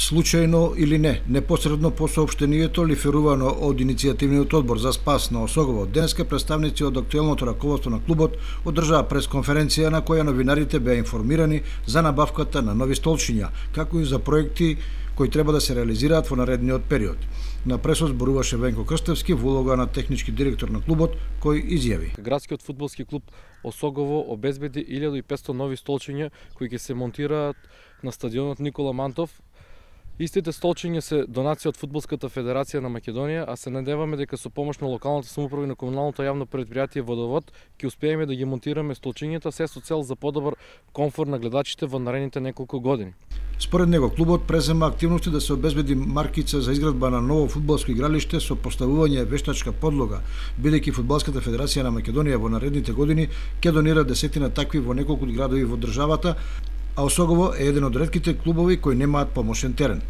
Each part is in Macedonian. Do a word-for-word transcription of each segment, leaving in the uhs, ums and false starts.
Случајно или не, непосредно по соопштението лиферувано од иницијативниот одбор за спас на Осогово, денеска представници од актуелното раководство на клубот одржаа пресконференција на која новинарите беа информирани за набавката на нови столчиња, како и за проекти кои треба да се реализираат во наредниот период. На пресот зборуваше Венко Крстевски во улога на технички директор на клубот, кој изјави: Градскиот фудбалски клуб Осогово обезбеди илјада и петстотини нови столчиња кои ќе се монтираат на стадионот Никола Мантов. Истите столчиња се донација од Фудбалската федерација на Македонија, а се надеваме дека со помош на локалната самоуправа и на комуналното јавно предпријатие Водовод ќе успееме да ги монтираме столчињата, се со цел за подобар комфорт на гледачите во наредните неколку години. Според него, клубот презема активности да се обезбеди маркица за изградба на ново фудбалско игралиште со поставување вештачка подлога, бидејќи Фудбалската федерација на Македонија во наредните години ќе донира десетина такви во неколку градови во државата, а Осогово е еден од ретките клубови кои немаат помошен терен.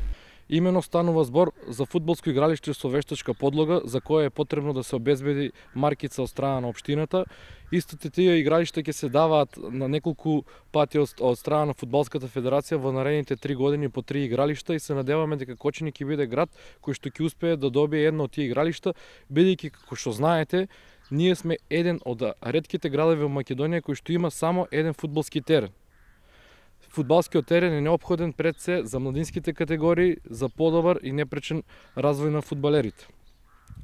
Имено станува збор за фудбалско игралиште со вештачка подлога, за кое е потребно да се обезбеди маркица од страна на општината. Истите тие игралишта ќе се даваат на неколку пати од, од страна на Фудбалската федерација во наредните три години по три игралишта и се надеваме дека Кочани ќе биде град кој што ќе успее да добие едно од тие игралишта, бидејќи како што знаете, ние сме еден од ретките градови во Македонија кој што има само еден фудбалски терен. Фудбалскиот терен е неопходен пред се за младинските категории, за подобар и непречен развој на фудбалерите.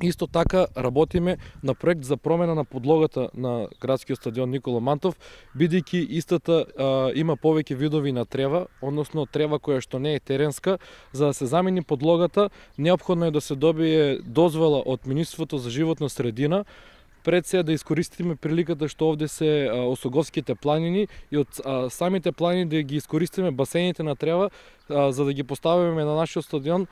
Исто така работиме на проект за промена на подлогата на градскиот стадион Никола Мантов, бидејќи истата а, има повеќе видови на трева, односно трева која што не е теренска. За да се замени подлогата, неопходно е да се добие дозвола од Министерството за животна средина, пред се да искористиме приликата што овде се а, Осоговските планини и од а, самите планини да ги искористиме басените на трева, а, за да ги поставиме на нашиот стадион,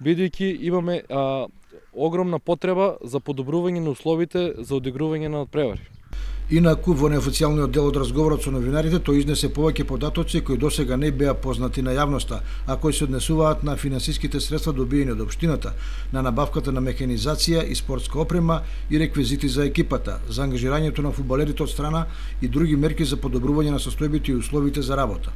бидејќи имаме а, огромна потреба за подобрување на условите за одигрување на надпревари. Инаку, во неофицијалниот дел од разговорот со новинарите, тој изнесе повеќе податоци кои досега не беа познати на јавноста, а кои се однесуваат на финансиските средства добиени од општината, на набавката на механизација и спортска опрема и реквизити за екипата, за ангажирањето на фудбалерите од страна и други мерки за подобрување на состојбите и условите за работа.